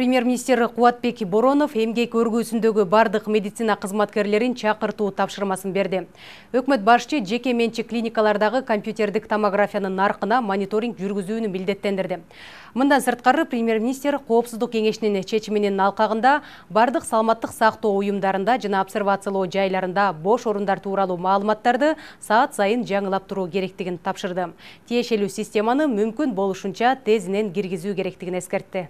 Премьер-министр Кубатбек Боронов эмгек өргүүсүндөгү бардык медицина кызматкерлерин чакыртуу тапшырмасын берди. Өкмөт башчы жеке менчик клиникалардагы компьютердик томографиянын наркына мониторинг жүргүзүүнү милдеттендирди. Мындан сырткары премьер-министр Коопсуздук кеңешинин чечиминин алкагында бардык саламаттык сактоо уюмдарында жана обсервациялоо жайларында бош орундар тууралуу маалыматтарды саат сайын жаңылап туруу керектигин тапшырды. Тиешелүү системаны мүмкүн болушунча тезинен киргизүү керектигин эскертти.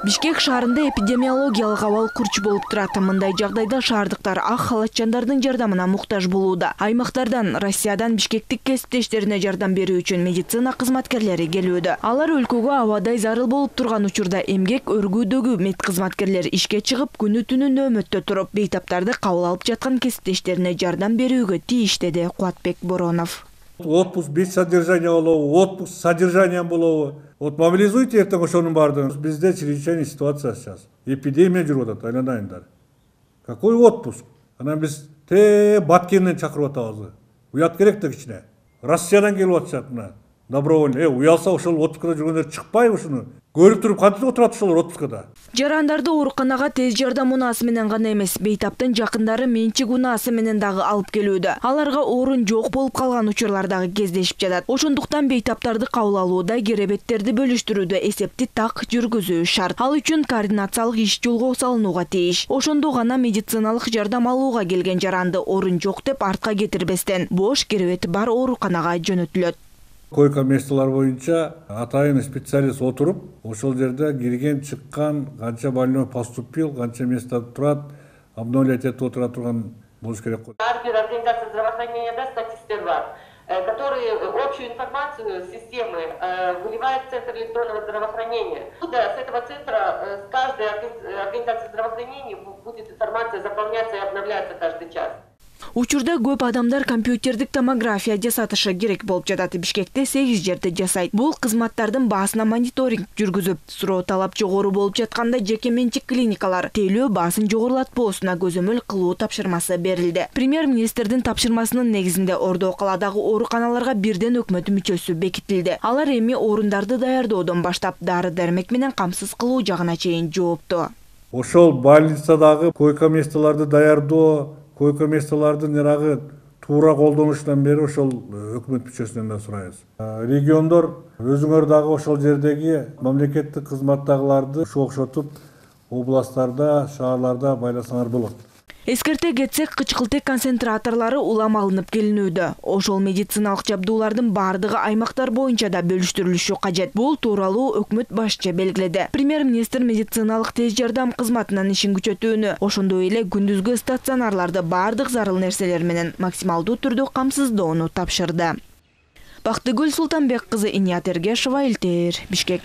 Бишкек шаарында эпидемиологиялык абал курч болуп турат. Мындай жагдайда шаардыктар ак халатчандардын жардамына муктаж болууда. Аймактардан, Россиядан бишкектик кесиптештерине жардам берүү үчүн медицина кызматкерлери келүүдө. Алар өлкөгө абадай зарыл болуп турган учурда эмгек өргүүдөгү мед кызматкерлер ишке чыгып, күнү-түнү нөөмөттө туруп, бейтаптарды кабыл алып жаткан кесиптештерине жардам берүүгө тийиш, деди Кубатбек Боронов. Отпуск без содержания болобу, отпуск с содержанием болобу. Вот мобилизуйте эртең ошонун баардыгын. Бизде чрезвычайная ситуация сейчас. Эпидемия жүрүп атат, айланайындар. Какой отпуск? Анан биз Баткенден чакырып атабыз. Уят керек да кичине. Россиядан келип атышат мына. Добровольно. Уялса ошол отпускада жүргөндөр чыкпайбы ушуну? Көрүп туруп кантип отурат ошолор отпускада? Жарандарды ооруканага тез жардам унаасы менен гана эмес, бейтаптын жакындары менчик унаасы менен дагы алып келүүдө. Аларга орун жок болуп калган учурлар дагы кездешип жатат. Ошондуктан бейтаптарды кабыл алууда керебеттерди бөлүштүрүүдө эсепти так жүргүзүү шарт. Ал үчүн координациялык иш жолго салынууга тийиш. Ошондо гана медициналык жардам алууга келген жаранды орун жок деп артка кетирбестен, бош керебети бар ооруканага жөнөтүлөт. Койка месталар боюнча атайын специалист отуруп, ошол жерде кирген, чыккан, канча больной поступил, канча место турат, обновлять этип отура турган болуш керек. Ар бир организация здравоохранения статисттер бар, которые общую информацию с системы выливает в Центр электронного здравоохранения. С этого центра с каждой организации здравоохранения будет информация заполняться и обновляться каждый час. Учурда көп адамдар компьютердик томография жасатышы керек болуп жатат. Бишкекте 8 жерде жасайт. Бул кызматтардын баасына мониторинг жүргүзүп, суроо талап жогору болуп жатканда жеке менчик клиникалар тейлөө баасын жогорулатпоосуна көзөмөл кылуу тапшырмасы берилди. Премьер-министрдин тапшырмасынын негизинде Ордо калаадагы ооруканаларга бирден өкмөт мүчөсү бекитилди. Алар эми орундарды даярдоодон баштап дары-дармек менен камсыз кылуу жагына чейин жоопту. Ошол больницадагы койка месталарды даярдоо, койка месталардын туура колдонушунан бери ошол өкмөт мүчөсүнөн да сурайбыз. Региондор өзүңөр дагы ошол жердеги мамлекеттик кызматтагыларды окшотуп, областтарда, шаарларда байласаңар болот. Эскерте кетсек, кычкылтек концентраторлору улам алынып келинүүдө. Ошол медициналык жабдуулардын бардыгы аймактар боюнча да бөлүштүрүлүшү кажет. Бул тууралуу өкмөт башчы белгиледи. Премьер-министр медициналык тез жардам кызматынын ишин күчөтүүнү, ошондой эле күндүзгү стационарларды бардык зарыл нерселер менен максималдуу түрдө камсыздоону тапшырды. Бактыгүл Султанбек кызы, Иният Эргешова, ЛТР, Бишкек.